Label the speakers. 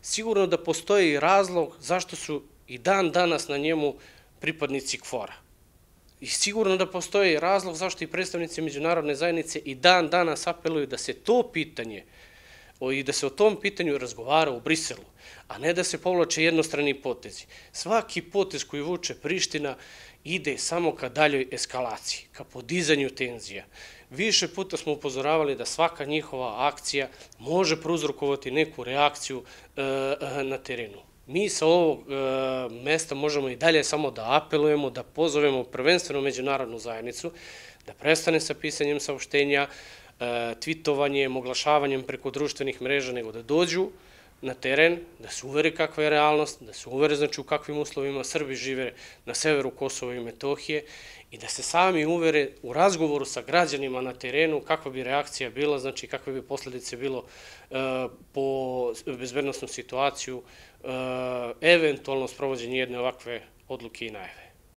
Speaker 1: sigurno da postoji razlog zašto su i dan danas na njemu pripadnici KFOR-a. I sigurno da postoji razlog zašto i predstavnici međunarodne zajednice i dan danas apeluju da se to pitanje i da se o tom pitanju razgovara u Briselu, a ne da se povlače jednostrani potezi. Svaki potez koji vuče Priština ide samo ka daljoj eskalaciji, ka podizanju tenzija. Više puta smo upozoravali da svaka njihova akcija može prouzrokovati neku reakciju na terenu. Mi sa ovog mesta možemo i dalje samo da apelujemo, da pozovemo prvenstveno međunarodnu zajednicu, da prestane sa pisanjem saopštenja, tvitovanjem, oglašavanjem preko društvenih mreža, nego da dođu na teren, da se uvere kakva je realnost, da se uvere znači u kakvim uslovima Srbi žive na severu Kosova i Metohije i da se sami uvere u razgovoru sa građanima na terenu kakva bi reakcija bila, znači kakve bi posledice bilo po bezbednosnu situaciju, eventualno sprovođenje jedne ovakve odluke i najave.